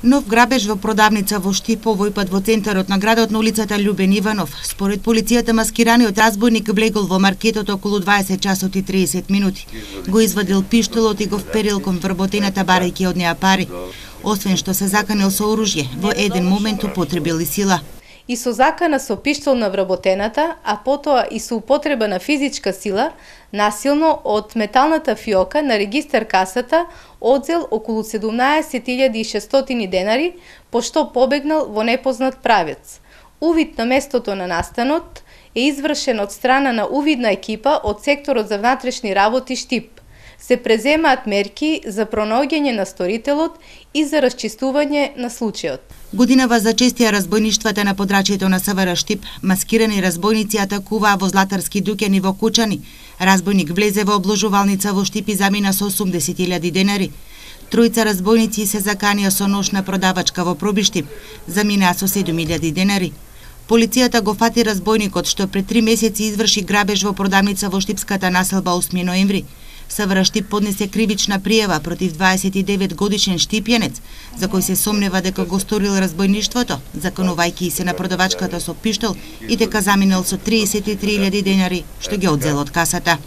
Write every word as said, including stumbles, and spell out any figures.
Нов грабеж во продавница во Штип, овој пат во центарот на градот на улицата Љубен Иванов. Според полицијата, маскираниот разбойник влегол во маркетот околу дваесет часот и триесет минути. Го извадил пиштолот и го вперил кон вработената барајќи од неа пари. Освен што се заканил со оружје, во еден момент употребил и сила. И со закана со пиштол на вработената, а потоа и со употреба на физичка сила, насилно од металната фиока на регистар касата одзел околу седумнаесет илјади и шестстотини денари, пошто побегнал во непознат правец. Увид на местото на настанот е извршен од страна на увидна екипа од секторот за внатрешни работи Штип. Се преземаат мерки за пронаоѓање на сторителот и за расчистување на случајот. Годинава зачестија разбойништвата на подрачјето на СВР Штип. Маскирани разбойници атакуваа во златарски дуќани во Кучани. Разбойник влезе во обложувалница во Штип и замина со осумдесет илјади денари. Тројца разбойници се заканија со нож на продавачка во Пробиштип. Заминаа со седум илјади денари. Полицијата го фати разбойникот што пред три месеци изврши грабеж во продавница во штипската населба осми ноември. СВР Штип поднесе кривична пријава против дваесет и девет годишен штипјанец, за кој се сомнева дека го сторил разбойништвото, заканувајќи се на продавачката со пиштол и дека заминал со триесет и три илјади денари што ги одзел од касата.